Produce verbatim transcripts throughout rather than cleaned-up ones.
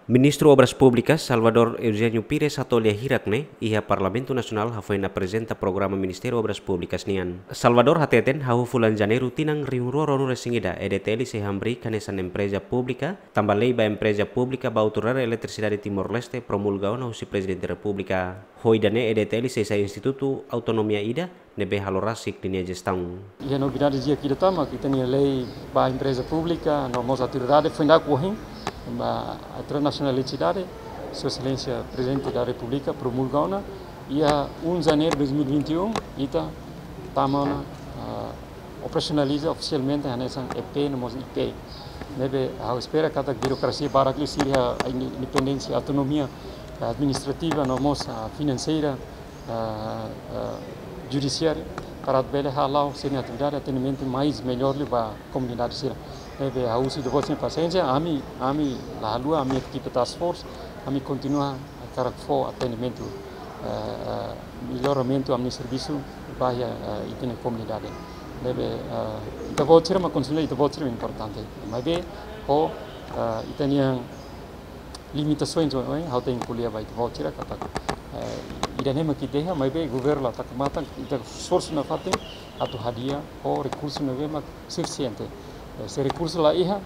Ministru Obras Públikas, Salvador Eugênio Pires, hato'o lia hirak ne'e iha Parlamentu Nasionál hafoin aprezenta programa Ministériu Obras Públikas nian. Salvador hateten hahú fulan Janeiru tinan rihun rua ruanulu-resin-ida, E D T L sei hamriik hanesan empreza públika, tanba lei ba empreza públika ba autoridade eletrisidade Timor-Leste promulga ona husi Prezidente Repúblika. Ho ida-ne'e E D T L sei sai institutu autonomia ida ne'ebé halo rasik ninia jestaun. Iha novidade di'ak ida tan mak ita-nia lei ba empreza públika no mós autoridade foin dadauk ohin, ba autoridade nasionál eletrisidade, Sua Exelénsia Prezidente da Repúblika promulga ona, iha um de Janeiro de dois mil e vinte e um, ita tama ona, ah, operasionaliza ofisialmente hanesan E P no mós I P. Ne'ebé ha'u espera katak birokrasia barak liu sira iha independénsia, autonomia administrativa no mós, ah, finanseira, ah, ah, judisiária, para bele hala'o sira-nia atividade atendimentu mais mellór liu ba komunidade sira. Ne'ebé ha'u husu ita-boot sira-nia pasiénsia, ami, ami la haluha, ami ekipa task force, ami kontinua hakarak fó atendimentu, ah, ah, melloramentu ami-nia servisu ba iha, ah, ita-nia komunidade. Ne'ebé, ah, ita-boot sira mak konsellu, ita-boot sira importante. Maibé, ho, ah, ita-nia limitasaun, eh, ha'u tenke ko'alia ba ita-boot sira katak, eh, ida-ne'e mak ita iha, maibé governu la taka matan, ita esforsu nafatin atu hadi'a ho rekursu ne'ebé mak sufisiente. Eh, se rekursu la iha,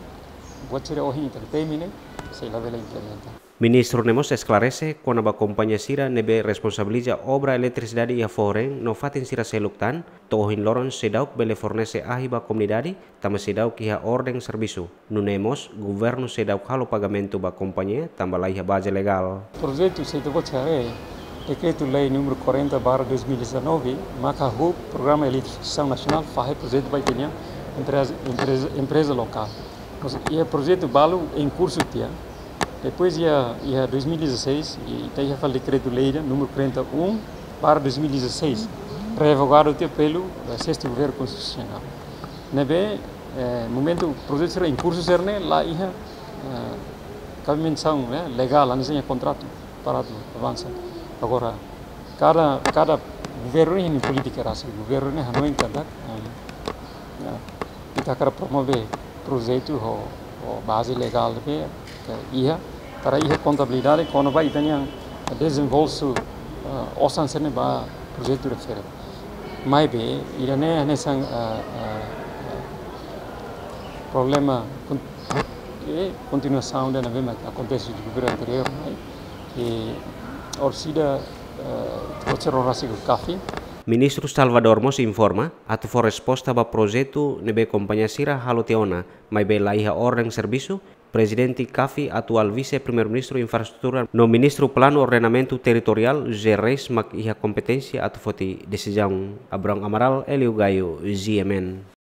buat sira ohin ita temi ne'e sei labele implementa. Ministru ne'e mós esklarese kona-ba kompañia sira ne'ebé responsabiliza obra eletrisidade iha foho-reen no fatin sira seluk tan, to'o ohin loron seidauk bele fornese ahi ba komunidade, tanba seidauk iha orden servisu. Nune'e mós, governu seidauk halo pagamentu ba kompañia, tanba la iha baze legál. Projetu se ita-boot haree, Dekretu-Lei númeru quarenta barra dois mil e dezanove, maka hahú Programa Eletrificação Nacional fahe projetu ba ita-nia empreza, empreza, empreza lokál. Mas iha projetu balu em curso tiha. Depois iha, iha dois mil e dezasseis, ita iha fali Dekretu-Lei númeru quarenta e um barra dois mil e dezasseis, revogadu tiha pelo, eh, sexto Governo Constitucional. Ne'ebé, eh, momentu projetu sira em curso sira-ne'e la iha, eh, kabimentasaun, eh, legál, hanesan iha kontratu para atu avansa. Agora, kada, kada governu iha nia polítika rasik, governu ne'e hanoin katak, eh, eh, ita hakarak promove projetu ho, ho baze legál ne'ebé iha, para iha kontabilidade kona-ba ita-nia desembolsu, eh, osan sira-ne'e ba projetu refere. Maibé, ida-ne'e hanesan, eh, eh, eh, problema kon-, eh, kontinuasaun ida ne'ebé mak akontese iha governu anteriór, mai, eh, orsida, eh, konsero rasik ho CAFI. Ministru Salvador mós informa, atu fó resposta ba projetu ne'ebé kompañia sira halo tiha ona, maibé la iha orden servisu, Prezidente CAFI, atuál Vise-Primeiru-Ministru Infraestrutura no Ministru Planu Ordenamentu Territoriál, José Reis, mak iha kompeténsia atu foti desizaun. Abrão Amaral, Hélio Gaio, G M N.